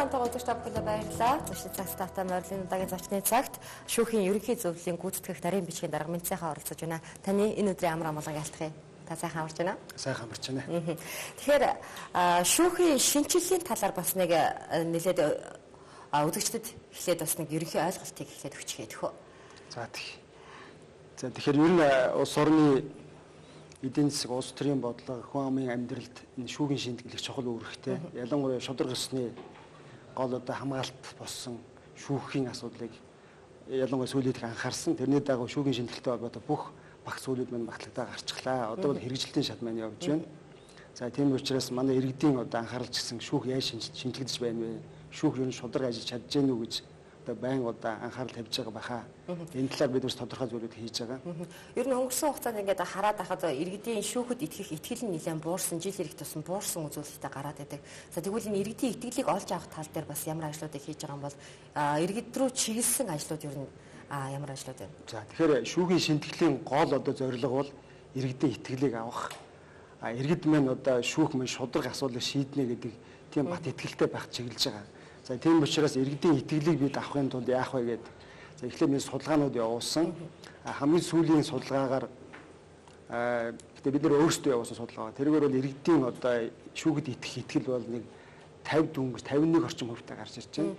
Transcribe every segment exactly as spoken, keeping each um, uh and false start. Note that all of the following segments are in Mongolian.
хамтаа үзэгч та бүхэнд баярлалаа. Зочид цагт тавтай морилын удаагийн зочны цагт шүүхийн ерөнхий зөвлөлийн гүйцэтгэх нарийн бичгийн дарга Минцайхан оролцож байна. Таны энэ өдрийн амар амгалан ялтахыг та сайхан амарч байна. Сайхан амарч байна. Тэгэхээр шүүхийн шинжилгээний талаар бас нэг нэлээд үзэгчдэд эхлээд бас нэг ерөнхий ойлголтыг эхлээд өгчихээ төхөө. За тийм. За тэгэхээр ер нь улс орны эдийн засаг, улс төрийн бодлого, хүн амын амьдралд энэ шүүхийн шинжилгээ чухал үүрэгтэй. Ялангуяа шудраг ёсны гол одоо хамгаалалт болсон шүүхийн асуудлыг ялангуяа сүүлийн анхаарсан. Тэрний дагуу шүүхийн шинжилгээтэй холбоотой бүх багц зүйлүүд маань батлагдаа гарчихлаа. Одоо бол хэрэгжилтийн шат маань явж байна. За тийм учраас манай иргэдийн одоо анхааралж гисэн шүүх яаж шинжлэгдэж байна вэ? Шүүх ер нь шудраг ажиллаж чадж гэнэ үү гэж одоо байн одоо анхаарал тавьж байгаа баха. Энэ талаар бид бас тодорхой зүйлүүд хийж байгаа. Ер нь өнгөрсөн хугацаанд ингээд хараад ахад иргэдийн шүүхэд итгэх итгэл нь нэлээд буурсан, жил ирэх тусам буурсан үзүүлэлттэй гараад байдаг. За тэгвэл энэ иргэдийн итгэлийг олж авах тал дээр бас ямар ажлуудыг хийж байгаа юм бол иргэд рүү чиглэсэн ажлууд ер нь ямар ажлууд вэ? За тэгэхээр шүүхийн шинтгэлийн гол одоо зорилго бол иргэдийн итгэлийг авах. А иргэд маань одоо шүүх мөн шудраг асуудлыг шийднэ гэдэг тийм бат итгэлтэй байх чиглэж байгаа. За тийм учраас иргэдийн итгэлийг бид авахын тулд яах вэ гэдэг. За эхлээд бид судалгаанууд явуулсан. Хамгийн сүүлийн судалгаагаар гэдэг бид нэр өөрсдөө явуулсан судалгаа. Тэргээр бол иргэдийн одоо шүүхэд итгэх итгэл бол нэг тавьд дөнгөж тавин нэг орчим хувьтай гарч ирж байна.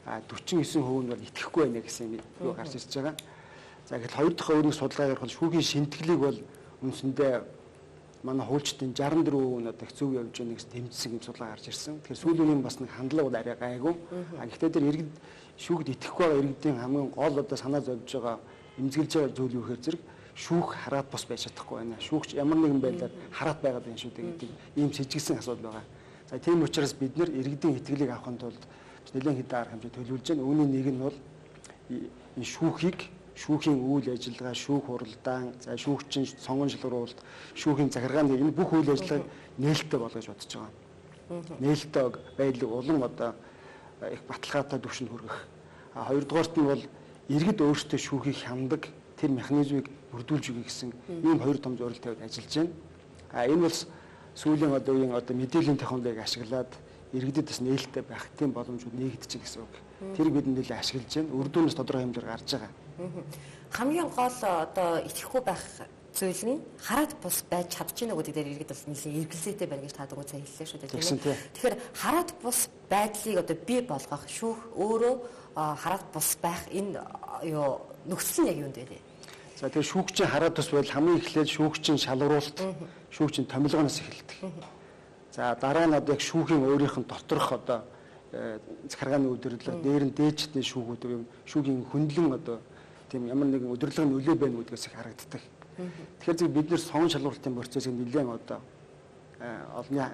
А дөрвөн девять хувь нь бол итгэхгүй байна гэсэн юм гарч ирж байгаа. За гэхэд хоёр дахь өөрийн судалгаагаар бол шүүхийн шинтгэлийг бол үндсэндээ манай хуульчдын шестдесят дөрвөн хувь нь одоо их зөв явж байгаа нэгс тэмцсэн юм судалгаа гарч ирсэн. Тэгэхээр сүүлийн юм бас нэг хандлага бол арай гайгүй. А гэхдээ тэр иргэд шүүхд итгэхгүй байгаа иргэдийн хамгийн гол одоо санаа зовж байгаа эмзэглэж байгаа зүйл юу гэхээр зэрэг шүүх хараад бос байж чадахгүй байна. Шүүгч ямар нэгэн байдлаар хараад байгаад байна шүү дээ гэдэг ийм сэжигсэн асуудал байгаа. За тийм учраас бид нэр иргэдийн итгэлийг авахын тулд нэлээд хэдэн арга хэмжээ төлөвлөж байна. Үүний нэг нь бол энэ шүүхийг шүүхийн үйл ажиллагаа, шүүх хуралдаан, за шүүгчийн сонгон шалгаруулалт, шүүхийн захиргааны энэ бүх үйл ажиллагааг нээлттэй болгож бодож байгаа. Нээлттэй байдлыг улам одоо их баталгаатай түвшинд хүргэх. А хоёрдугаарт нь бол иргэд өөрсдөө шүүхийг хяндаг тэр механизмыг бүрдүүлж өгье гэсэн ийм хоёр том зорилт тавьж ажиллаж байна. А энэ бол сүүлийн одоо үеийн одоо мэдээллийн технологиг ашиглаад иргэдэд бас нээлттэй байх тийм боломжууд нэгдэж гэсэн үг. Тэр бид нэлээд ашиглаж байна. Үр дүнээс тодорхой хэмжээр гарч байгаа. Хамгийн гол одоо итгэхгүй байх зүйл нь хараад бус байж чадчихна гэдэг дээр иргэд бол нэлээд эргэлзээтэй байна гэж та дөрөв цаа хэллээ шүү дээ тийм ээ. Тэгэхээр хараад бус байдлыг одоо бий болгох шүүх өөрөө хараад бус байх энэ юу нөхцөл нь яг юунд вэ? За тэгэхээр шүүгчийн хараад бус байдал хамгийн эхлээд шүүгчийн шалгаруулалт, шүүгчийн томилгооноос эхэлдэг. За дараа нь одоо яг шүүхийн өөрийнх нь доторх одоо захиргааны удирдлага, дээр нь дээжтний шүүгүүд юм шүүхийн хөндлөн одоо тийм ямар нэгэн удирдлагын нөлөө байна гэдгээс их харагддаг. Тэгэхээр зөв бид нэр сон шалгуулалтын процессыг нэлээд одоо олонний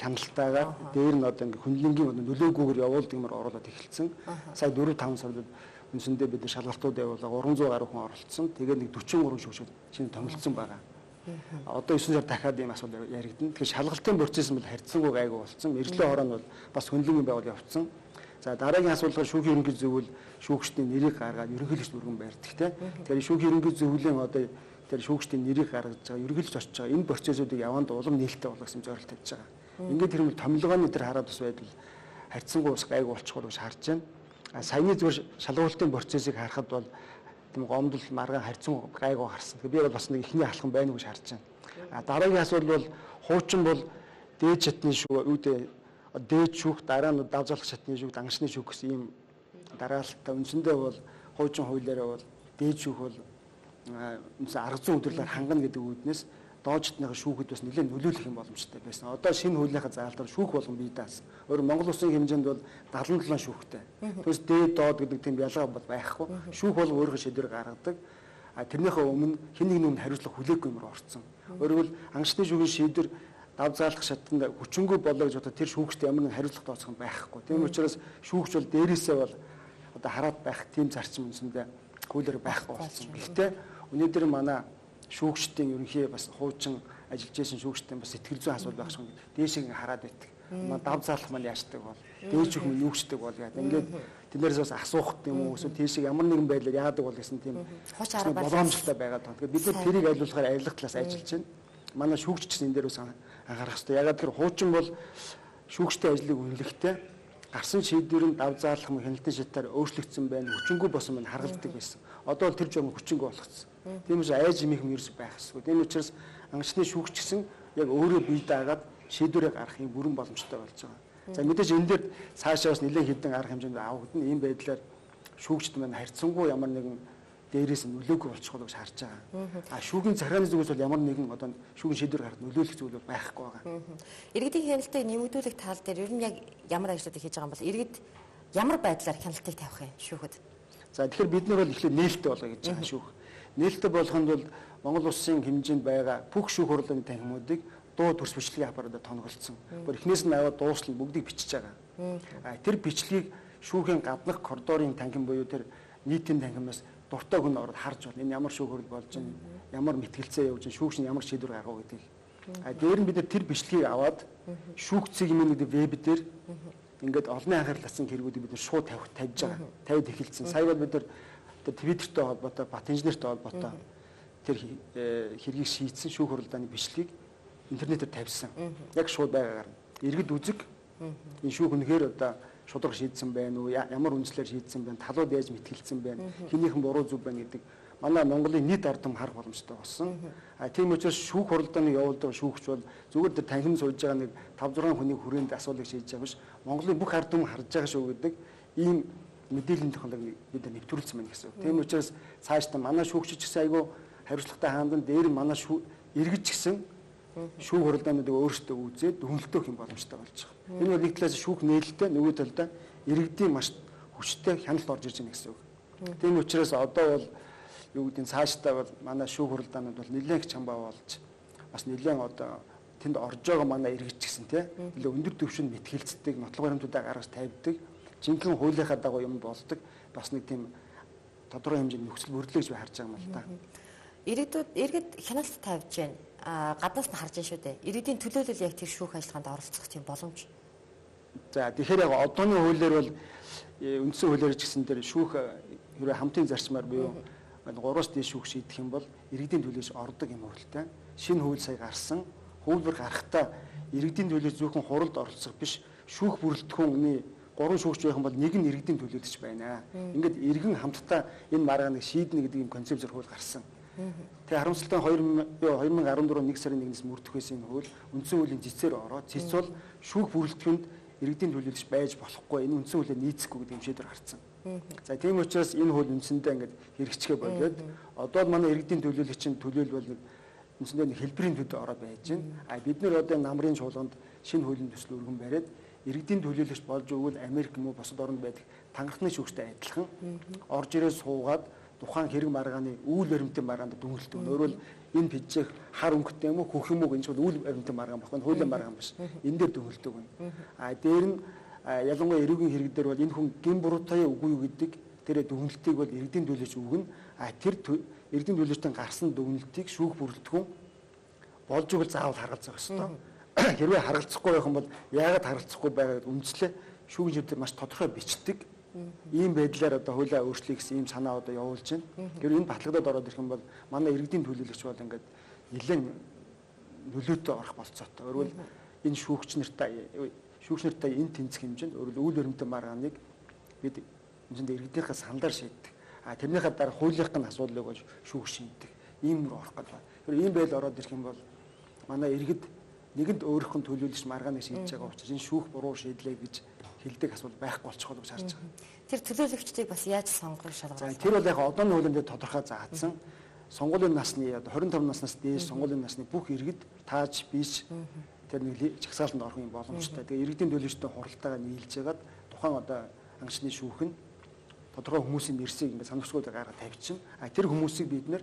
хяналтайгаар дээр нь одоо ингээ хөндлөнгийн нөлөөгүйгээр явуулдаг юмар оруулаад эхэлсэн. Сая дөрөв таван сард үндсэндээ бид шалгалтууд явуулаа гурван зуун гаруй хүн оролцсон. Тэгээд нэг дөрвөн гурван шүүгчид шинэ томилсон байгаа. Одоо девять сар дахиад ийм асуудал яригдана. Тэгэхээр шалгалтын процесс нь бол харьцангуй гайгүй болсон. Мэргэжлийн хороо нь бол бас хөндлөнгийн байгуул явагдсан. За дараагийн асуулгаар шүүхийн ерөнхий зөвлөл шүүгчдийн нэрийг гаргаад ерөнхийлөгч бүргэн барьдаг тийм. Тэгэхээр шүүхийн ерөнхий зөвлөлийн одоо тэр шүүгчдийн нэрийг гаргаж байгаа ерөнхийлөгч очиж байгаа энэ процессуудыг яванд улам нээлттэй болгох гэсэн зорилт тавьж байгаа. Ингээд тэр юм томилгооны тэр хараад бас байдал харьцангуй бас гайгүй болчихгоо гэж харж байна. А саяны зүгээр шалгуулалтын процессыг харахад бол тийм гомдол маргаан харьцангуй гайгүй харсан. Тэгэхээр би бол бас нэг ихний алхам байна гэж харж байна. А дараагийн асуудал бол хуучин бол дээд шатны шүү үүдээ дээд шүүх дараа нь давзалах шатны шүүх, дангашны шүүх гэсэн ийм дараалтаа үндсэндээ бол хуучин хуулиараа бол дээд шүүх бол үндсэн арга зүйн өдөрлөөр хангана гэдэг үүднээс доожтныхаа шүүхэд бас нэлээд нөлөөлөх юм боломжтой байсан. Одоо шинэ хуулийнхаа заалтаар шүүх болгон бий даасан. Өөр Монгол Улсын хэмжээнд бол дагалан долоон шүүхтэй. Түүнээс дээд доод гэдэг тийм ялгаа бол байхгүй. Шүүх бол өөрийнхөө шийдвэр гаргадаг. А тэрнийхээ өмнө хэн нэг нь хариуцлага хүлээхгүй юмар орцсон. Өөрөөр ангашны шүүхийн шийдвэр давзаалах шатнд хүчингүй болоо гэж бодоод тэр шүүгчд ямар нэгэн хариуцлага тооцох юм байхгүй. Тийм учраас шүүгч бол дээрээсээ бол одоо хараад байх тийм зарчим үндсэндээ хуулиар байхгүй болсон. Гэхдээ өнөөдөр манай шүүгчдийн ерөнхий бас хуучин ажиллаж байсан шүүгчдийн бас сэтгэл зүйн асуудал байх шиг дээшийг хараад байдаг. Манай давзаалах маань яашдаг бол дээж их мөн юучдаг бол яа. Ингээд тэднээс бас асуух юм уу эсвэл тийшээ ямар нэгэн байдлаар яадаг бол гэсэн тийм боломжтой байгаад байна. Тэгэхээр бид нар тэрийг айлуулахаар айлах талаас ажиллаж байна. Манай шүүгч гэсэн энэ дээр бас анхаарах хэрэгтэй. Ягаад гэвэл хуучин бол шүүгчтэй ажлыг үнэлэхдээ гарсан шийдвэрийн дав заалах юм хяналтын шатаар өөрчлөгдсөн байна, хүчингүй болсон байна харгалдаг байсан. Одоо бол тэр журам хүчингүй болгоцсон. Тийм учраас айж имих юм ерөөс байх ёсгүй. Тийм учраас анхны шүүгч гэсэн яг өөрөө бие даагаад шийдвэрээ гаргах юм бүрэн боломжтой болж байгаа. За мэдээж энэ дээр цаашаа бас нэлээд хэдэн арга хэмжээнд авагдана. Ийм байдлаар шүүгчд маань харьцангуй ямар нэгэн дээрээс нь нөлөөгүй болчихгоо гэж харж байгаа. А шүүгийн захиргааны зүгээс бол ямар нэгэн одоо шүүгийн шийдвэр гаргахад нөлөөлөх зүйл бол байхгүй байгаа. Иргэдийн хяналтыг нэмэгдүүлэх тал дээр ер нь яг ямар ажлуудыг хийж байгаа юм бол иргэд ямар байдлаар хяналтыг тавих юм шүүхэд? За тэгэхээр бид нар бол эхлээд нээлттэй болгоё гэж байгаа шүүх. Нээлттэй болгоход бол Монгол улсын хэмжээнд байгаа бүх шүүх хурлын танхимуудыг дуу төрс бичлэгийн аппаратаар тонголцсон. Бүр эхнээс нь аваад дуусал бүгдийг бичиж байгаа. А тэр бичлэгийг шүүхийн гаднах коридорын танхим буюу тэр нийтийн танхимаас дуртай хүн ороод харж байна. Энэ ямар шүүх хурл болж байна, ямар мэтгэлцээ явж байна, шүүгч нь ямар шийдвэр гаргав гэдгийг. А дээр нь бид нар тэр бичлэгийг аваад шүүгцийг юм нэг веб дээр ингээд олонний анхаарал татсан хэрэгүүдийг бид нар шууд тавих тавьж байгаа. Тавьд эхэлсэн. Сая бол бид нар Твиттертэй холбоотой, бат инженертэй холбоотой тэр хэргийг шийдсэн шүүх хурлааны бичлэгийг интернетээр тавьсан. Яг шууд байгаагаар иргэд үзэг энэ шүүх үнэхээр одоо шудраг шийдсэн байна уу, ямар үндслээр шийдсэн байна, талууд яаж мэтгэлцсэн байна, хинийхэн буруу зүв байна гэдэг манай Монголын нийт ард түмэн харах боломжтой болсон. А тийм учраас шүүх хуралдааны явуулдаг шүүгч бол зүгээр тэр танхим сууж байгаа нэг тавь зургаан хүний хүрээнд асуулыг шийдэж байгаа биш. Монголын бүх ард түмэн харж байгаа шүү гэдэг ийм мэдээллийн технологиг бид нэвтрүүлсэн байна гэсэн. Тийм учраас цаашдаа манай шүүгч ч гэсэн айгүй хариуцлагатай хаандан дээр манай иргэд ч гэсэн шүүх хурлаануудыг өөрсдөө үзээд дүнэлтөх юм боломжтой болж байгаа. Энэ бол нэг талаас шүүх нээлттэй, нөгөө талдаа иргэдийн маш хүчтэй хяналт орж ирж байна гэсэн үг. Тийм учраас одоо бол юу гэдэг нь цаашдаа бол манай шүүх хурлаанууд бол нэлээд чамбаа болж бас нэлээд одоо тэнд орж байгаа манай иргэд ч гэсэн тийм нэлээд өндөр түвшинд мэтгэлцдэг, нотлох баримтуудаа гаргаж тавьдаг, жинхэнэ хуулийнхаа дагуу юм болдог. Бас нэг тийм тодорхой хэмжээний нөхцөл бүрдлээ гэж би харж байгаа юм л да. Иргэдүүд иргэд хяналт тавьж байна. А гаднаас нь харж байна шүү дээ. Иргэдийн төлөөлөл яг тэр шүүх ажиллагаанд оролцох тийм боломж. За тэгэхээр яг одооны хуулиар бол үндсэн хуулиар ч гэсэн тэр шүүх хэрэг хамтын зарчмаар буюу гураас дээш шүүх шийдэх юм бол иргэдийн төлөөс ордог юм хөрөлтэй. Шинэ хууль сая гарсан. Хуулбар гарахтаа иргэдийн төлөөс зөвхөн хуралд оролцох биш, шүүх бүрэлдэхүүний гурван шүүгч байх юм бол нэг нь иргэдийн төлөөс ч байна. Ингээд иргэн хамтдаа энэ маргааныг шийднэ гэдэг юм концепцээр хууль гарсан. Тэгээ харамсалтай хоёр мянга арван дөрөв нэг сарын нэгнээс мөрдөх байсан энэ хууль үндсэн хуулийн цэцээр ороод цэц бол шүүх бүрэлдэхүүнд иргэдийн төлөөлж байж болохгүй, энэ үндсэн хуулиар нийцэхгүй гэдэг юм шийдвэр гарсан. За тийм учраас энэ хууль үндсэндээ ингээд хэрэгжихээ болоод одоо манай иргэдийн төлөөлөгчийн төлөөлөл нэг үндсэндээ нэг хэлбэрийн төдөө ороод байж байна. А бид нэр одоо намрын чуулганд шинэ хуулийн төсөл өргөн бариад иргэдийн төлөөлөгч болж өгвөл Америк юм уу бусад орнд байдаг танхны шүүгчтэй адилхан орж ирээ суугаад тухайн хэрэг маргааны үйл баримтын маргаанд дүнэлт өгнө. Өөрөөр энэ пижээх хар өнгөтэй юм уу хөх юм уу гэж бол үйл баримтын маргаан баггүй хуулийн маргаан биш. Энэ дээр дүнэлт өгнө. А дээр нь ялангуяа эрүүгийн хэрэг дээр бол энэ хүн гин буруутай үгүй юу гэдэг тэр дүнэлтийг бол иргэдийн төлөөлөгч өгнө. А тэр иргэдийн төлөөлөгчдийн гарсан дүнэлтийг шүүх бүрэлдэхүүн болж өгөл заавал харгалзах ёстой. Хэрвээ харгалзахгүй байх юм бол яагаад харгалзахгүй байгаад үндслээ шүүгийн шийдвэр маш тодорхой бичдэг. Ийм байдлаар одоо хуулиа өөрчлөе гэсэн ийм санаа одоо явуулж байна. Гэвч энэ баталгадад ороод ирэх юм бол манай иргэдийн төлөөлөгч бол ингээд нэлээд нөлөөтэй орох болцоотой. Өөрөөр энэ шүүгч нартай шүүгч нартай энэ тэнцэх хэмжээнд өөрөөр үйл баримтын маргааныг бид энд иргэдийнхээ саналаар шийддэг. А тэрнийхээ дараа хуулийнхын асуудлыг бол шүүгч шийддэг. Ийм рүү орох гэдэг. Тэгэхээр ийм байл ороод ирэх юм бол манай иргэд нэгэнд өөрийнхөө төлөөлөгч маргааныг шийдэж байгаа учраас энэ шүүх буруу шийдлээ гэж хэлдэг асуудал байхгүй болчихгоо гэж харж байгаа. Тэр төлөөлөгчдийг бас яаж сонгох шалгуулсан? Тэр бол яг одооны хуулинд тодорхой заасан. Сонгуулийн насны одоо хорин таван наснаас дээш сонгуулийн насны бүх иргэд тааж биш тэр нэг жагсаалтанд орох юм боломжтой. Тэгээ иргэдийн төлөөлөгчтэй хуралдаагаа нийлж ягаад тухайн одоо ангичны шүүх нь тодорхой хүмүүсийн нэрсийг ингээд санамсгуудыг гаргаж тавьчихна. А тэр хүмүүсийг бид нэр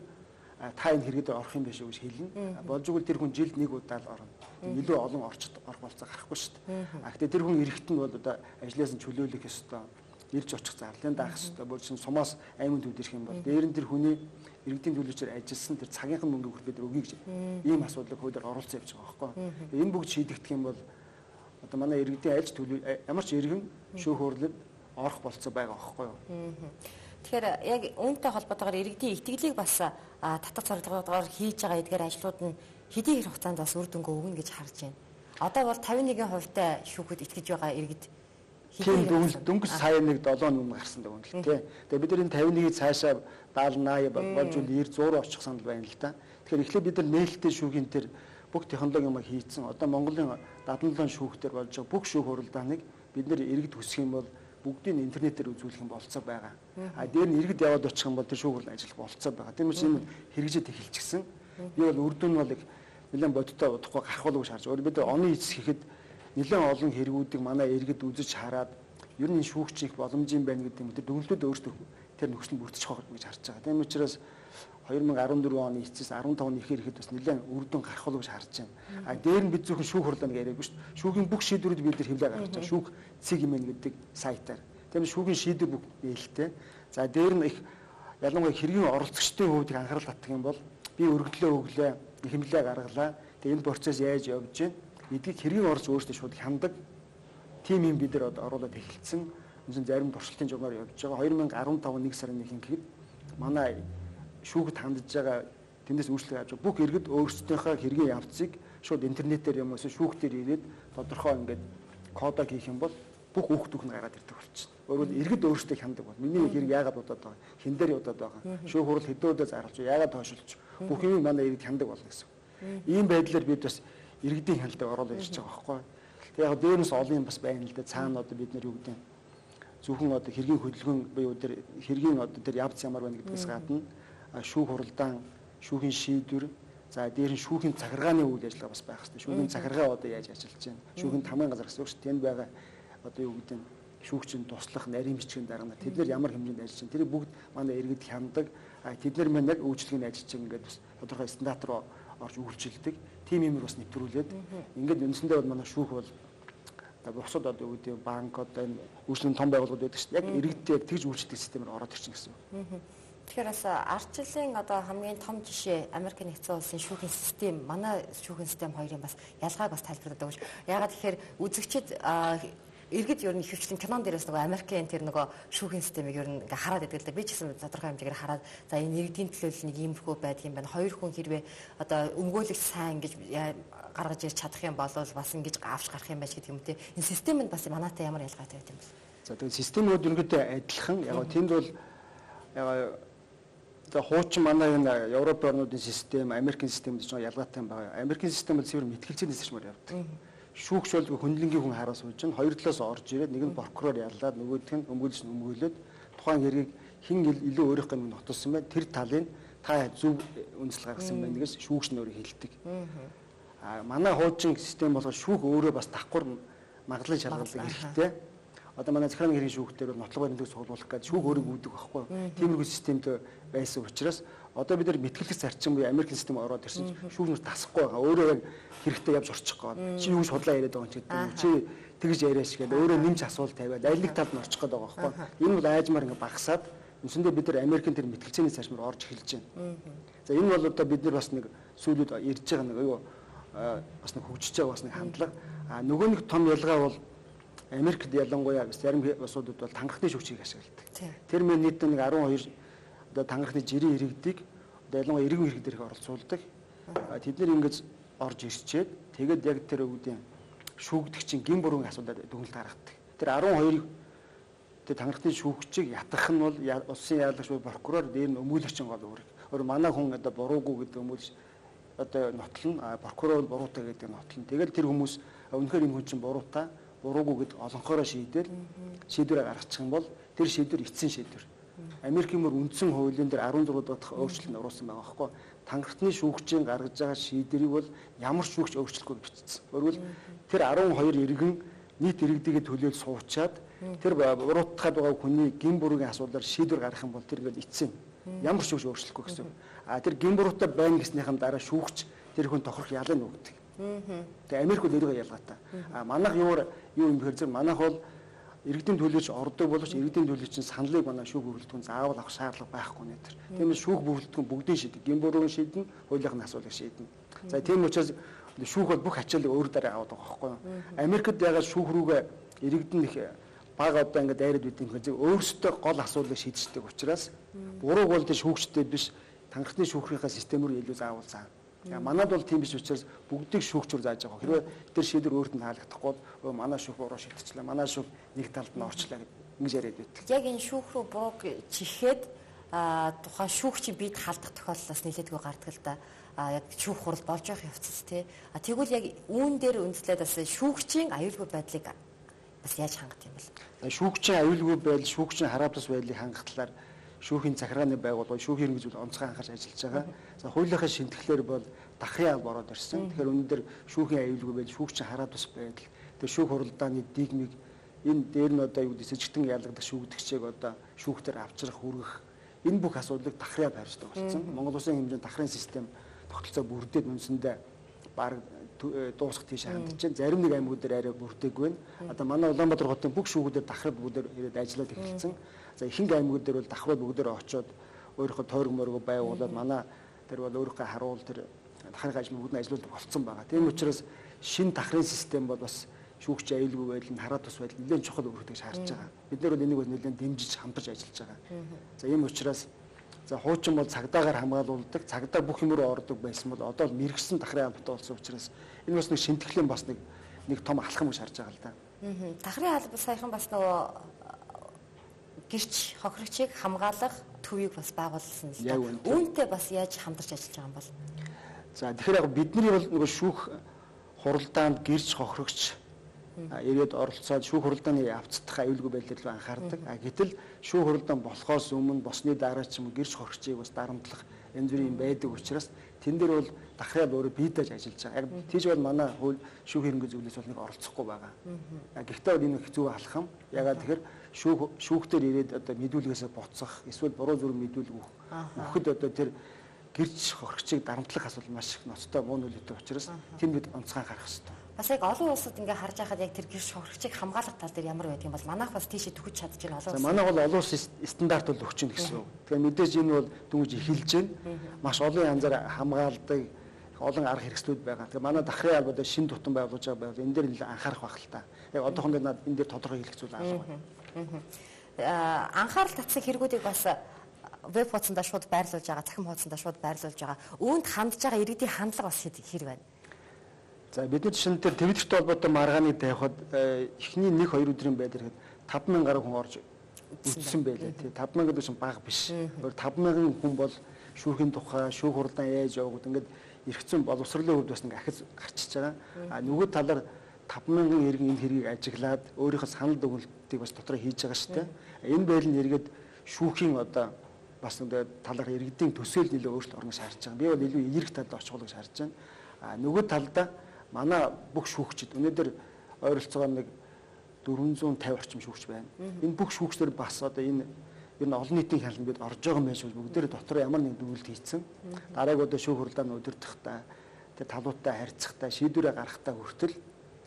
та энэ хэрэгэд орох юм биш үү гэж хэлнэ. Болж игэл тэр хүн жилд нэг удаа л орно. Илүү олон орчд орох болцоо гарахгүй шүү дээ. А гэхдээ тэр хүн эрэхт нь бол одоо ажлаас нь чөлөөлөх ёстой. Ирж очих зарлын даах ёстой. Бүр чинь сумаас аймаг төвд ирэх юм бол дээр нь тэр хүний иргэдийн төлөөлөгчөөр ажилласан тэр цагийнхан мөнгө хүрээд өгье гэж ийм асуудлыг хуулиар оруулсан явж байгаа байхгүй. Энэ бүгд шийдэгдэх юм бол одоо манай иргэдийн альж төлөв ямар ч иргэн шүүх хурлад орох болцоо байгаа байхгүй юу. Тэгэхээр яг үүнтэй холбоотойгоор иргэдийн итгэлийг бас татах зорилгоор хийж байгаа эдгээр ажлууд нь хэдийн хэр хугацаанд бас үр дүнгээ өгнө гэж харж байна. Одоо бол тавин нэгэн хувьтай шүүхэд итгэж байгаа иргэд тийм дөнгөж сая нэг долоо өмнө гарсан даа үнэлт тий. Тэгээ бид нар энэ тавин нэгийг цаашаа даалнаа болж үл нэр зуур очих санал байна л да. Тэгэхээр эхлээд бид нар нээлттэй шүүхийн тэр бүх технологи юм хийцэн одоо Монголын дадлан шүүхтэр болж байгаа бүх шүүх хуралдааныг бид нар иргэд хүсэх юм бол бүгдийг интернетээр үзүүлэх юм болцоо байгаа. А дээр нь иргэд яваад очих юм бол тэр шүүх хурлын ажил болцоо байгаа. Тийм учраас энэ хэрэгжиж эхэлчихсэн. Би бол үр дүн бол нэлээд бодиттой удахгүй гарах болов шаарч. Өөр бид оны эцэс гэхэд нэлээд олон хэрэгүүдийг манай иргэд үзэж хараад ер нь шүүгч их боломжийн байна гэдэг юм. Тэр дүгнэлтүүд өөрсдөө тэр нөхцөл бүрдчих واخ гэж харж байгаа. Тийм учраас two thousand fourteen оны эцэс fifteen оны ихээр ихэд бас нэлээд үр дүн гарах болов шаарч байна. А дээр нь бид зөвхөн шүүх хурлааныг яриаггүй шүү дээ. Шүүхийн бүх шийдвэрүүд бид нар хэвлээ гаргаж байгаа. Шүүх цэг юм гэдэг сайтаар. Тийм шүүхийн шийдвэр бүх нээлттэй. За дээр нь их ялангуяа хэргийн оролцогчдын хувьд анхаарал татах юм бол би өргөдлөө өглөө хэмлээ гаргалаа. Тэгээ энэ процесс яаж явж байна? Эдгийг хэргийн орж өөрсдөө шууд хяндаг тим юм бид нар оруулаад эхэлсэн. Үнэн зарим туршилтын журмаар явж байгаа. two thousand fifteen нэг сарын нэгэн гэхэд манай шүүгт хандж байгаа тэндээс үйлчлэг авч бүх иргэд өөрсдийнхөө хэргийн явцыг шууд интернетээр юм уу шүүх дээр ирээд тодорхой ингээд кодоо хийх юм бол бүх хүүхдүүд нь гараад ирдэг болчихно. Өөрөөр иргэд өөрсдөө хяндаг бол миний хэрэг яагаад удаад байгаа хэн дээр удаад байгаа шүүх хурал хэдэн удаа зарлж яагаад тоошилж бүх юм манай иргэд хяндаг болно гэсэн. Ийм байдлаар бид бас иргэдийн хяналтыг оруулаад ирж байгаа байхгүй. Тэгээ яг дээрээс олон юм бас байна л да. Цаана одоо бид нар юу гэдэг зөвхөн одоо хэргийн хөдөлгөөн буюу тэр хэргийн одоо тэр явц ямар байна гэдгээс гадна шүүх хуралдаан, шүүхийн шийдвэр, за дээр нь шүүхийн захиргааны үйл ажиллагаа бас байх хэрэгтэй. Шүүхийн захиргаа одоо яаж ажиллаж байна? Шүүхийн тамгын газар гэсэн үг шүү дээ. Тэнд байгаа одоо юу гэдэг нь шүүгчийн туслах, нарийн бичгийн дарга тэд нар ямар хэмжээнд ажиллаж байна? Тэр бүгд манай иргэд хяндаг. Тэд нар маань яг үйлчлэгийн ажиллаж байгаа ингээд бас тодорхой стандарт руу орж үйлчилдэг. Тим юмэр бас нэвтрүүлээд ингээд үндсэндээ бол манай шүүх бол бусад одоо юу гэдэг банк одоо энэ үйлчлэгийн том байгууллагууд байдаг шүү дээ. Яг иргэдтэй яг тэгж үйлчлдэг системээр ороод ирчихсэн гэсэн үг. Тэгэхээр бас ардчлалын одоо хамгийн том жишээ Америк нэгдсэн улсын шүүхийн систем, манай шүүхийн систем хоёрын бас ялгааг бас тайлбарлаад өгч. Яагаад тэгэхээр үзэгчид иргэд ер нь хөвчлэн кинон дээрээс нөгөө Америкийн тэр нөгөө шүүхийн системийг ер нь ингээ хараад байдаг л да. Би ч гэсэн тодорхой хэмжээгээр хараад за энэ иргэдийн төлөөлөл нэг иймэрхүү байдаг юм байна. Хоёр хүн хэрвээ одоо өмгөөлөгч сайн гэж гаргаж ирж чадах юм бол бас ингэж авч гарах юм байж гэдэг юм те. Энэ системэнд бас манайтай ямар ялгаатай байт юм бэ? За тэгээд системүүд ерөнхийдөө адилхан. Яг тэнд бол яг тэгээ хуучин манай энэ Европ орнуудын систем, Америкийн системд ч ялгаатай юм байна. Америкийн систем бол зөвхөн мэтгэлцээний системээр явдаг. Шүүгч бол хүндлэнгийн хүн хараа сууж чинь хоёр талаас орж ирээд нэг нь прокурор яллаад нөгөөх нь өмгөөлж өмгөөлөд тухайн хэргийг хэн илүү өөрийнхөө юм нотолсон бай тэр талын та зөв үндэслэл гаргасан байна гэж шүүгч нь өөрөө хэлдэг. А манай хуучин систем болохоор шүүх өөрөө бас давхар магадлал шалгалдаг хэрэгтэй. Одоо манай захиргааны хэргийн шүүхтэр бол нотлого баримтыг суулгуулах гэдэг шүүх өөрөө үүдэг байхгүй. Тиймэрхүү системд байсан учраас одоо бид нар мэтгэлэг зарчим буюу Америкийн систем ороод ирсэн шүүх нүр тасахгүй байгаа. Өөрөө яг хэрэгтэй явж орчих гээд чи юу ч худлаа яриад байгаа юм чи чи тэгж яриаш гээд өөрөө нэмж асуулт тавиад аль нэг талд нь орчих гээд байгаа байхгүй. Энэ бол айжмаар ингээ багасаад үндсэндээ бид нар Америкийн тэр мэтгэлцээний зарчмаар орж эхэлж байна. За энэ бол одоо бид нар бас нэг сүүлүүд ирж байгаа нэг юу бас нэг хөгжиж байгаа бас нэг хандлага. А нөгөө нэг том ялгаа бол Америкт ялангуяа зарим улсуудад бол тангарахны шүүгчийг ашигладаг. Тэр мэн нийт нэг twelve одоо тангарахны жирийн иргэдийг одоо ялангуяа иргэн иргэд дээрх оролцуулдаг. Тэд нэр ингэж орж ирчээд тэгээд яг тэр үүдийн шүүгдэгчийн гин бүрийн асуудал дүгнэлт гаргадаг. Тэр twelve тэр тангарахны шүүгчийг ятгах нь бол улсын яарлагч прокурор дээр нь өмгөөлөгчийн гол үүрэг. Өөр манай хүн одоо буруугүй гэдэг өмгөөлж одоо нотлно, прокурор бол буруутай гэдэг нотлно. Тэгээд тэр хүмүүс үнэхээр энэ хүн чинь буруутай буруугүй гэд олонхороо шийдэл шийдвэрээ гаргачих юм бол тэр шийдвэр эцсийн шийдвэр. Америкийн мөр үндсэн хуулийн дээр sixteen дахь өөрчлөлт оруулсан байгаа байхгүй. Тангарахны шүүгчийн гаргаж байгаа шийдвэрийг бол ямар шүүгч өөрчлөхгүй бичсэн. Өөрөөр тэр twelve иргэн нийт иргэдийгээ төлөөл суучаад тэр буруутгаад байгаа хүний гин бүрийн асуудлаар шийдвэр гаргах юм бол тэр ингээд эцсийн ямар шүүгч өөрчлөхгүй гэсэн. А тэр гин буруутай байна гэснийхэн дараа шүүгч тэр хүн тохирох ялыг нүгдэг. Тэгээ Америк бол өөрийгөө ялгаатай. А манайх юу юу юм бэхэр зэрэг манайх бол иргэдийн төлөөч ордог боловч иргэдийн төлөөч саналыг манай шүүх бүрэлдэхүүн заавал авах шаардлага байхгүй нэ тэр. Тиймээс шүүх бүрэлдэхүүн бүгдийн шийдэг. Гин буруугийн шийдэн, хуулийнхын асуудлыг шийдэн. За тийм учраас шүүх бол бүх ачааллыг өөр дараа аваад байгаа байхгүй юу? Америкт ягаад шүүх рүүгээ иргэдэн их бага одоо ингээд дайраад үт юм хэрэг өөрсдөө гол асуудлыг шийдчихдэг учраас бурууг бол тэр шүүгчтэй биш тангарахны шүүхрийнхаа систем рүү илүү заавал заа. Манайд бол тийм биш учраас бүгдийг шүүгчээр зааж байгаа. Хэрвээ тэр шийдвэр өөрт нь таалагдахгүй бол манай шүүх буруу шийдчихлээ. Манай шүүх нэг талд нь орчлаа гэж ингэж яриад байдаг. Яг энэ шүүх рүү бууг чихээд тухайн шүүгчийн бид халдах тохиолдлоос нэлээдгүй гардаг л да. Яг шүүх хурал болж явах явцс тий. А тэгвэл яг үүн дээр үндэслээд бас шүүгчийн аюулгүй байдлыг бас яаж хангах юм бэ? Шүүгчийн аюулгүй байдал, шүүгчийн хараа тус байдлыг хангах талаар шүүхийн захиргааны байгууллага, шүүхийн хэрэгжүүл онцгой анхаарч ажиллаж байгаа. За хуулийнхаа шинтгэлээр бол дахрын алба ороод ирсэн. Тэгэхээр өнөөдөр шүүхийн аюулгүй байдал, шүүгчийн хараа тус байдал, тэр шүүх хуралдааны дигмиг энэ дээр нь одоо юу гэдэг сэжигтэн ялгадах шүүгдэгчийг одоо шүүхтэр авчрах, хүргэх энэ бүх асуудлыг дахрын алба харьцдаг болсон. Монгол Улсын хэмжээнд дахрын систем тогтолцоо бүрдээд үндсэндээ баг дуусах тийш хандж байна. Зарим нэг аймагуудаар арай бүрдээгүй байна. Одоо манай Улаанбаатар хотын бүх шүүгүүдээр дахрал бүгдээр ирээд ажиллаад эхэлсэн. За ихэнх аймагуудаар бол давхрууд бүгдээр очоод өөрийнхөө тойрог морог байгуулад манай тэр бол өөрийнхөө харуул тэр дахрын ажил бүгд нь ажиллаулдаг болцсон байгаа. Тийм учраас шинэ дахрын систем бол бас шүүгч аюулгүй байдал, хараа тус байдал нэлээд чухал үүрэгтэй шаарч байгаа. Бид нэр бол энийг бол нэлээд дэмжиж хамтарч ажиллаж байгаа. За ийм учраас за хуучин бол цагдаагаар хамгаалуулдаг, цагдаа бүх юмруу ордог байсан бол одоо л мэрэгсэн дахрын албатай болсон учраас энэ бас нэг шинтгэлийн бас нэг нэг том алхам гэж харж байгаа л да. Дахрын алба саяхан бас нөгөө гэрч хохирогчийг хамгаалах төвийг бас байгуулсан л да. Үүнтэй бас яаж хамтарч ажиллаж байгаа юм бол? За тэгэхээр яг бидний бол нөгөө шүүх хуралдаанд гэрч хохирогч ирээд оролцоод шүүх хуралдааны авцдах аюулгүй байдлаар л анхаардаг. А гэтэл шүүх хуралдаан болохоос өмнө босны дараа ч юм уу гэрч хохирогчийг бас дарамтлах янз бүрийн байдаг учраас тэн дээр бол дахрын өөрөө биедэж ажиллаж байгаа. Яг тийж бол манай хууль шүүх хэрэггүй зүйлээс бол нэг оролцохгүй байгаа. Гэхдээ бол энэ хэцүү алхам. Ягаад тэгэхээр шүүх шүүхтэр ирээд одоо мэдүүлгээсээ буцах, эсвэл буруу зүрх мэдүүлэг өгөхөд одоо тэр гэрч хохирогчийг дарамтлах асуудал маш их ноцтой муу нөлөөтэй учраас тэнд бид онцгой анхаарах хэрэгтэй. Бас яг олон улсад ингээ харж байхад яг тэр гэрч хохирогчийг хамгаалах тал дээр ямар байдаг юм бол манайх бас тийшээ төгөж чадж байна олон улс. За манайх бол олон улсын стандарт бол өгч гэнэ гэсэн үг. Тэгэхээр мэдээж энэ бол дүнж эхэлж байна. Маш олон янзаар хамгаалдаг олон арга хэрэгслүүд байгаа. Тэгэхээр манай дахрын албад шинэ тутам байгуулж байгаа байвал энэ дээр нэлээд анхаарах байх л та. Яг одоохондоо над энэ дээр тодорхой хэлэх зүйл алга байна. Аа анхаарал татсан хэрэгүүдийг бас веб хуудсандаа шууд байрлуулж байгаа, цахим хуудсандаа шууд байрлуулж байгаа. Үүнд хандж байгаа иргэдийн хандлага бас хэр байна? За бидний жишээн дээр Твиттерт холбоотой маргааны тавихад эхний нэг хоёр өдрийн байдлаар таван мянган гаруй хүн орж үзсэн байлаа тий. таван мянган гэсэн бага биш. Өөр таван мянган хүн бол шүүхийн тухай, шүүх хуралдаан яаж явагдав ингээд эргэцэн боловсролын хувьд бас нэг ахиц гарчиж байгаа. А нөгөө талаар таван мянган иргэн энэ хэргийг ажиглаад өөрийнхөө санал дүгнэлтийг бас дотроо хийж байгаа шүү дээ. Энэ байл нь эргээд шүүхийн одоо бас нэг талаар иргэдийн төсөөл нэлээд өөрчлөлт орно шаардж байгаа. Би бол илүү эерэг талд очихлоо гэж харж байна. А нөгөө талдаа манай бүх шүүгчид өнөөдөр ойролцоогоор нэг дөрвөн зуун тавин орчим шүүгч байна. Энэ бүх шүүгчдэр бас одоо энэ ер нь олон нийтийн хяналт бид орж байгаа юм байна шүү. Бүгдээрээ дотор ямар нэг дүгнэлт хийцэн. Дарааг одоо шүүх хуралдааны удирдахдаа тэр талуудтай харьцахтаа шийдвэрээ гаргахтаа хүртэл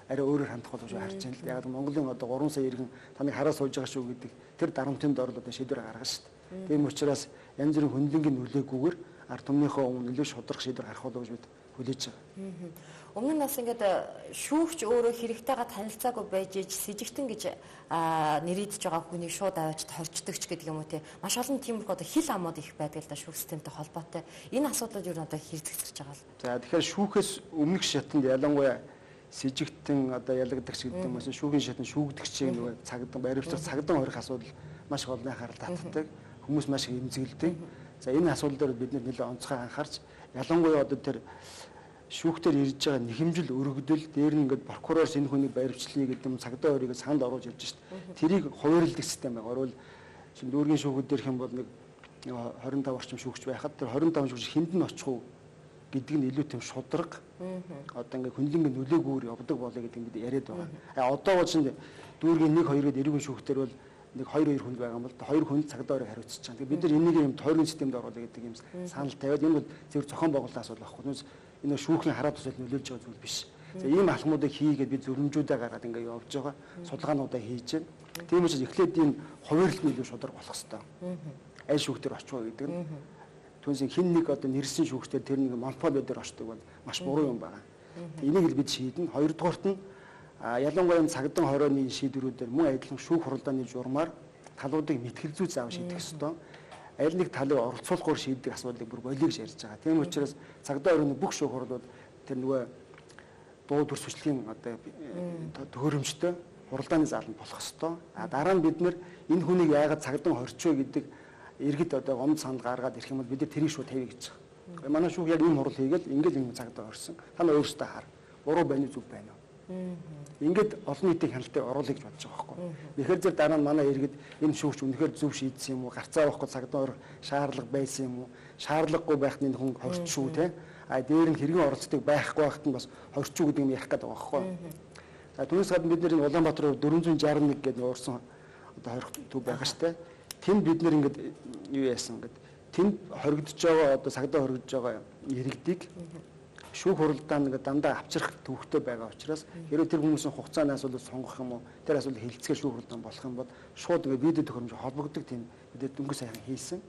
арай өөрөөр хандах болов шүү харж байна л. Яг Монголын одоо гурван сая иргэн таныг хараа сууж байгаа шүү гэдэг тэр дарамтын дор одоо шийдвэрээ гаргана шүү дээ. Тийм учраас янз бүрийн хөндлөнгийн нөлөөгүйгээр ард түмнийхөө өмнө нөлөө шударга шийдвэр гарах болов гэж бид хүлээж байгаа. Өмнө нь бас ингээд шүүгч өөрөө хэрэгтэйгээ танилцаагүй байж иж сэжигтэн гэж нэрийдэж байгаа хүнийг шууд аваад хорчдогч гэдэг юм уу те. Маш олон тиймэрхүү одоо хил амууд их байдаг л да шүүх системтэй холбоотой. Энэ асуудлууд юу н одоо хэрэгцэж байгаа л. За тэгэхээр шүүхээс өмнөх шатанд ялангуяа сэжигтэн одоо ялагдагч гэдэг юм уу шүүхийн шатанд шүүгдэгчийг нөгөө цагдсан баримтлах цагдсан хорих асуудал маш олон анхаарал татдаг. Хүмүүс маш их эмзэглэдэг. За энэ асуудал дээр бид нэлээд онцгой анхаарч ялангуяа одоо тэр шүүхтэр ирж байгаа нэхэмжил өргөдөл дээр нь ингээд прокурорс энэ хүний баримтлалыг гэдэг юм цагдаа өрийг санд оруулж ирж шít. Тэрийг хуваарилдаг систем байгаа. Орвол чинь дүүргийн шүүхүүд дээрх юм бол нэг хорин таван орчим шүүгч байхад тэр хорин таван шүүгч хэнд нь очих уу гэдэг нь илүү тийм шударга. Одоо ингээд хөндлөнгийн нөлөөгөөр явдаг болоо гэдэг нь бид яриад байгаа. А одоо бол чинь дүүргийн нэг хоёр гээд эргэн шүүхтэр бол нэг хоёр хоёр хүнд байгаа юм бол хоёр хүнд цагдаа өрийг хариуцж байгаа. Тэгээд бид нар энийг юм тойргийн системд оруулах гэдэг юм санал тавиад энэ бол зөвхөн зохион байгуулалтын асуудал байхгүй. Энэ шүүхийн хараа тусал нөлөөлж байгаа зүйл биш. За ийм алхмуудыг хийгээд бид зөвлөмжүүдээ гаргаад ингээд явж байгаа. Судалгаануудаа хийж байна. Тийм учраас эхлээд энэ хувирлт нь илүү шударга болох хэрэгтэй. Аль шүүхтэр очих вэ гэдэг нь түнсийн хин нэг одоо нэрсэн шүүхтэр тэр нэг монопол дээр очдог бол маш буруу юм байна. Энийг л бид шийднэ. Хоёрдугаарт нь ялангуяа цагдсан хорооны шийдвэрүүдээр мөн адилхан шүүх хуралдааны журмаар талуудыг мэтгэлзүү заав шийдэх ёстой. аль нэг талыг оролцуулахгүйгээр шийддэг асуудлыг бүр болиё гэж ярьж байгаа. Тийм учраас цагдаа өрөөний бүх шүүх хурлууд тэр нөгөө дуу дүрс хүчлийн одоо төхөөрөмжтэй хуралдааны зааланд болох ёстой. А дараа нь бид нэр энэ хүнийг яагаад цагдаа хорчоо гэдэг иргэд одоо гомд санал гаргаад ирэх юм бол бид нар тэрийг шууд тавья гэж байгаа. Манай шүүх яг ийм хурал хийгээл ингээл энэ цагдаа орсон. Та нар өөрсдөө хар. Буруу байна уу зөв байна уу? Ингээд олон нийтийн хяналтыг оруулах гэж бодож байгаа байхгүй. Тэгэхээр зэрэг дараа нь манай иргэд энэ шүүгч үнэхээр зөв шийдсэн юм уу? Гарцаа авахгүй цагдаа орох шаардлага байсан юм уу? Шаардлагагүй байхад энэ хүн хорч шүү те. А дээр нь хэргийн оролцдог байхгүй байхад нь бас хорч шүү гэдэг юм ярих гэдэг байгаа байхгүй. За түүнээс гадна бид нэр Улаанбаатар дөрвөн шарх нэг гэдэг уурсан одоо хорих төв байгаа штэ. Тэнд бид нэр ингээд юу яасан ингээд тэнд хоригдож байгаа одоо цагдаа хоригдож байгаа иргэдийг шүүх хуралдаанд ингээд дандаа авчрах төвхтэй байгаа учраас хэрвээ тэр хүмүүсийн хугацааны асуудал сонгох юм уу тэр асуудал хилцгээ шүүх хуралдаанд болох юм бол шууд ингээд видео төхөөрөмж холбогддог тийм бид дөнгөж сайхан хийсэн.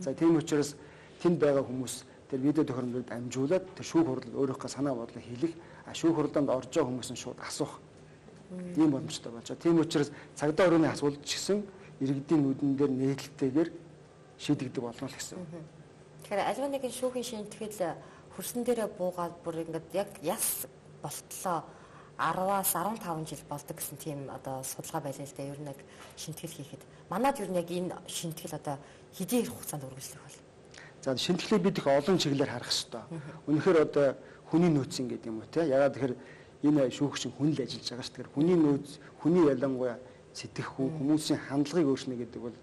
За тийм учраас тэнд байгаа хүмүүс тэр видео төхөөрөмжөд амжуулаад тэр шүүх хурал өөрийнхөө санаа бодлоо хэлэх а шүүх хуралдаанд орж байгаа хүмүүс нь шууд асуух ийм боломжтой болж байгаа. Тийм учраас цагдаа өрөөний асуудал ч гэсэн иргэдийн нүдэн дээр нээлттэйгээр шийдэгдэх болно л гэсэн. Тэгэхээр аливаа нэгэн шүүхийн шинтгэл хөрсөн дээрээ буугаад бүр ингээд яг яс болтлоо араваас арван таван жил болдог гэсэн тийм одоо судалгаа байлаа л да. Ер нь яг шинтгэл хийхэд манайд ер нь яг энэ шинтгэл одоо хэдийн хугацаанд үргэлжлэх бол. За шинтгэлийг бид их олон чиглэлээр харах хэрэгтэй. Үнэхээр одоо хүний нөөцийн гэдэг юм уу те. Ягаад тэгэхээр энэ шүүгч хүн л ажиллаж байгаа шүү дээ. Хүний нөөц, хүний ялангуяа сэтгэхгүй хүмүүсийн хандлагыг өөрчнө гэдэг бол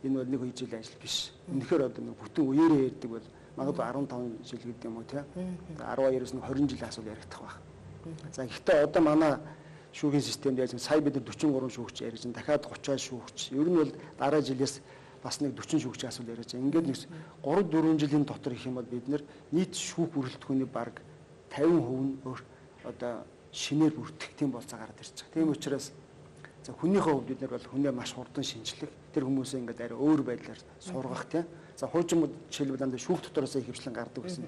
энэ бол нэг үе жил ажил биш. Үнэхээр одоо нэг бүтэн үеэрээ ярьдаг бол магадгүй арван таван жил гэдэг юм уу те. арван хоёроос нэг хорин жилийн асуудал яригдах байх. За гэхдээ одоо манай шүүхийн системд яаж сая бид дөрвөн гурван шүүгч ярьж байна. Дахиад гучин шүүгч. Ер нь бол дараа жилээс бас нэг дөрвөн шүүгчийн асуудал яриад байгаа. Ингээд нэг гурав дөрвөн жилийн дотор их юм бол бид нэр нийт шүүх бүрэлдэхүүний бараг тавин хувь нь одоо шинээр бүртгэх тийм болцоо гараад ирж байгаа. Тийм учраас за хүнийхээ хувьд бид нар бол хүнээ маш хурдан шинжлэх, тэр хүмүүсээ ингээд арай өөр байдлаар сургах тийм. За хуучмууд жишээлбэл дандаа шүүх дотороос их хвшлэн гардаг гэсэн.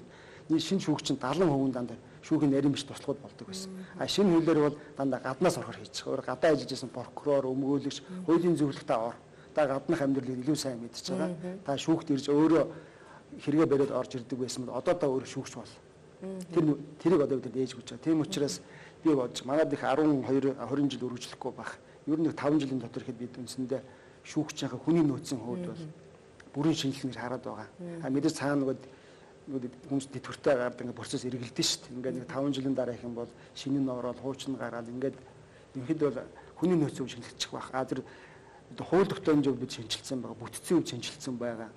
Нийт шинэ шүүгч нь дадлан хувийн дандаа шүүхийн нарийн биш туслахуд болдог байсан. А шинэ хуулиар бол дандаа гаднаас орохоор хийж байгаа. Өөр гадаа ажиллаж байсан прокурор, өмгөөлөгч, хуулийн зөвлөлт та ор. Та гаднах амьдралыг илүү сайн мэдж байгаа. Та шүүхт ирж өөрөө хэрэгэ бариад орж ирдэг байсан бол одоо та өөр шүүгч бол. Тэр тэрийг одоо бид ээж гэж байгаа. Тийм учраас би бодож манайд их арван хоёр хорин жил үргэлжлэхгүй байх. Ер нь таван жилийн дотор ихэд бид үндсэндээ шүүгчийнхээ хүний нөөцийн хувьд бол бүрийн шинжилгээ хараад байгаа. А мэдээж цаана нөгөө хүмүүс тэтгэвртэй гардаг ингээд процесс эргэлдэн шүү дээ. Ингээд нэг таван жилийн дараа их юм бол шинэ нь ороод хуучин гараад ингээд ерөнхийдөө бол хүний нөөцөө шинжилчих байх. А тэр хууль тогтоомжийн хувьд бид шинжилсэн байгаа. Бүтцийн хувьд шинжилсэн байгаа.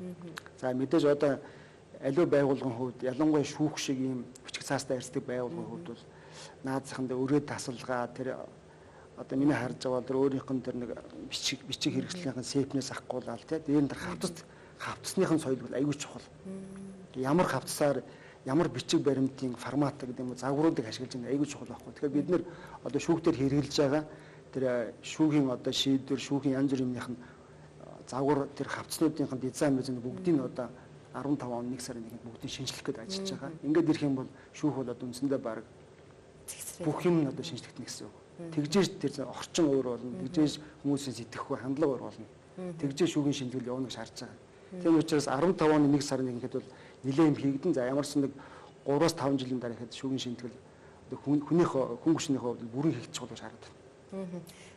За мэдээж одоо аливаа байгууллагын хувьд ялангуяа шүүх шиг ийм хүчиг цаастай ярьцдаг байгууллагын хувьд бол наадсаханд өрөөд тасалгаа тэр одоо миний харж байгаа бол тэр өөрийнх нь тэр нэг бичиг бичиг хэрэгслийнхэн сепнээс авахгүйлаа тий. Дээр нь тэр хавцас хавцсныхын соёл бол аюул чухал. Ямар хавцсаар ямар бичиг баримтын формат гэдэг юм уу загваруудыг ашиглаж байгаа аюул чухал байхгүй. Тэгэхээр бид нэр одоо шүүхтэр хэрэгжилж байгаа тэр шүүхийн одоо шийдвэр шүүхийн янз бүрийн юмных нь загвар тэр хавцнуудынхын дизайн мэзэн бүгдийг нь одоо арван таван он нэг сарын нэгэнд бүгдийг шинжлэх гээд ажиллаж байгаа. Ингээд ирэх юм бол шүүх бол одоо үндсэндээ баг бүх юм одоо шинжлэхтэн гэсэн үг. Тэгжээж тэр орчин өөр болно. Тэгжээж хүмүүсийн сэтгэхгүй хандлага өөр болно. Тэгжээж шүүхийн шинжилгээ явуулна гэж харж байгаа. Тийм учраас арван таван оны нэг сарын нэгэнд бол нэлээд юм хийгдэн. За ямарсан нэг гураваас таван жилийн дараа ихэд шүүхийн шинжилгээ одоо хүнийх хүн хүчнийхээ хувьд бүрэн хийгдчих болов гэж харагдав.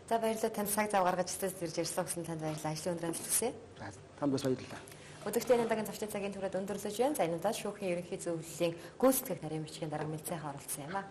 За баярлалаа танд цаг зав гаргаж студид ирж ярьсан гэсэн танд баярлалаа. Ажлын өндөр амжилт. Танд бас баярлалаа. Өдөртөө энэ удаагийн зочдын цагийн түрээд өндөрлөж байна. За энэ удаа шүүхийн ерөнхий зөвлөлийн гүйцэтгэх нарийн бичгийн дарга мэлцээхэн оролцсон юм а.